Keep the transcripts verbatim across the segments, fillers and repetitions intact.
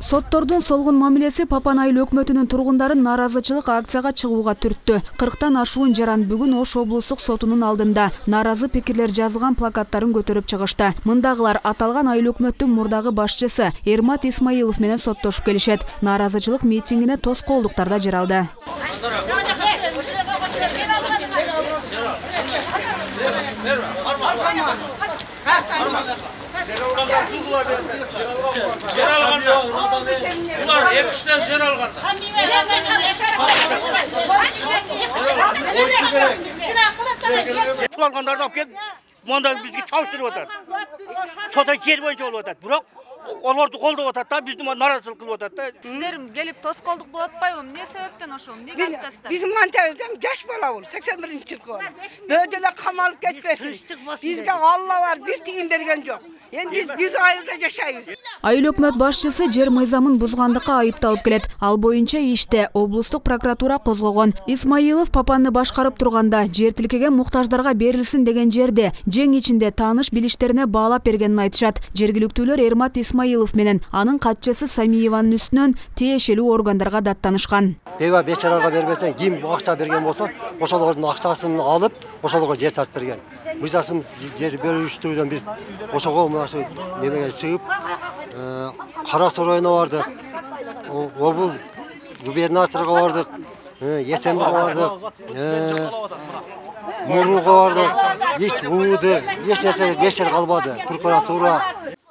Соттордун солгун мамилеси Папан айыл өкмөтүнүн тургундарын нааразычылык акцияга чыгууга түрттү. кырктан ашуун жаран бүгүн Ош облустук сотунун алдында нааразы пикирлер жазылган плакаттарын көтөрүп чыгышты. Мындагылар аталган айыл өкмөттүн мурдагы башчысы Эрмат Исмаилов менен соттошуп келишет. Нааразычылык митингине тоскоолдуктар да жаралды. Ular ekişten yer algan. Kullanganlardı alıp geldi. Monda bizge çalıştırıp atar. Sota yer boyunca olup atar. Bırak olordu koldu atar da bizim narazılık kılıp atar da. Sizlerim gelip toskolduk bulup atpayım. Ne sebepten oşum? Ne kaptasın? Bizim mantıktan geç bala ol. seksen birinci yıl var. Böyle kamalıp geçmesin. Bizge Allah var bir tiyim bergen yok. Endi biz biz айылда жашайбыз. Айыл өкмөт башчысы жер мыйзамын бузгандыкка айыпталып келет. Ал боюнча иште облустук прокуратура козгогон. Исмаилов Папанны башкарып турганда жер тилкеге муктаждарга берилсин деген жерде жең ичинде тааныш билиштерине баалап бергенин айтышат. Жергиликтүүлөр Эрмат Исмаилов менен анын катчысы Самиеванын үстүнөн тиешелүү органдарга даттанышкан. Беба бечарага бербестен ким акча берген болсо, ошолордун акчасын алып, ошолорго жер тартып берген. Мыйзамсыз жер бөлүштүрүүдөн биз ошого мынасы немеге чыгып, Кара Суу районуна бардык. Обул губернаторго бардык, Есенбиге бардык, Мурулга бардык. Эч ууду, эч нерсе жер калбады. Прокуратура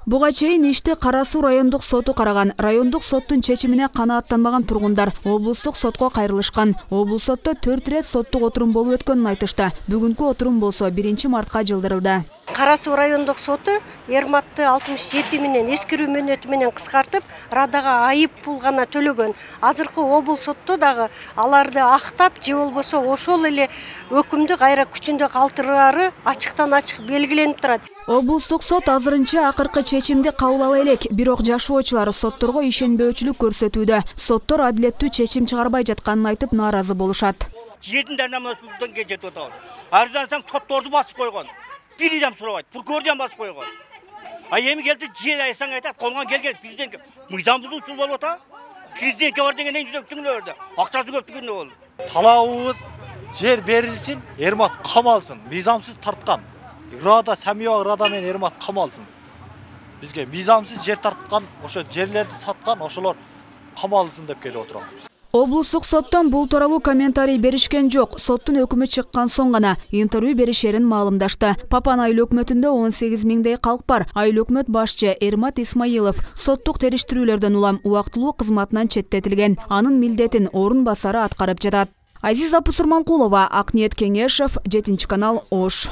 Буга чейин ишти Кара Суу райондук соту караган. Райондук соттун чечимине канааттанбаган тургундар облустук сотко кайрылышкан. Облус сотто төрт ирет соттук отурум болуп өткөнүн айтышты. Бүгүнкү отурум болсо биринчи мартка жылдырылды. Кара Суу райондук соту Эрматты алтымыш жети менен эскирүү мөөнөтү менен кыскартып, Радага айып пул гана төлөгөн. Азыркы облус сотто дагы аларды актап, же болбосо ошол эле өкүмдү кайра күчүндө калтырары ачыктан ачык белгиленип турат. Облустук сот азырынча акыркы чечимди кабыл ала элек, бирок жашоочулар сотторго ишенбөөчүлүк көрсөтүүдө. Соттор адилеттүү чечим чыгарбай жатканын айтып нааразы болушат. Жердин данамасынан кетип атат. Арзан саң сотторду басып койгон. Bir adam sorabaydı, prokurordan basıp koyuyor. Ayemi geldi, ciğer aysan aytat, kolgan gelgen, prezident mıydamızı usul bol ata. Prezidentke var degen en yüzöktüğünü ördü. Aksatı köptüğünü oldu. Talabımız yer verilsin, Ermat kamalsın. Mizamsız tartkan. Irada, Samiya Irada men Ermat kamalsın. Bizge mizamsız yer tartkan, oşo yerlerdi satkan, oşolor kamalsın dep kelip oturabız. Облустук соттон бул тууралуу комментарий беришкен жок. Соттун өкүмү чыккан соң гана интервью беришерин маалымдашты. Папан айыл өкмөтүндө он сегиз миңдей калк бар. Айыл өкмөт башчы Эрмат Исмаилов соттук териштирүүлөрдөн улам убактылуу кызматынан четтетилген. Анын милдетин орун басары аткарып жатат. Азиза Пусурманкулова, Акниет Кеңешев, жетинчи канал, Ош.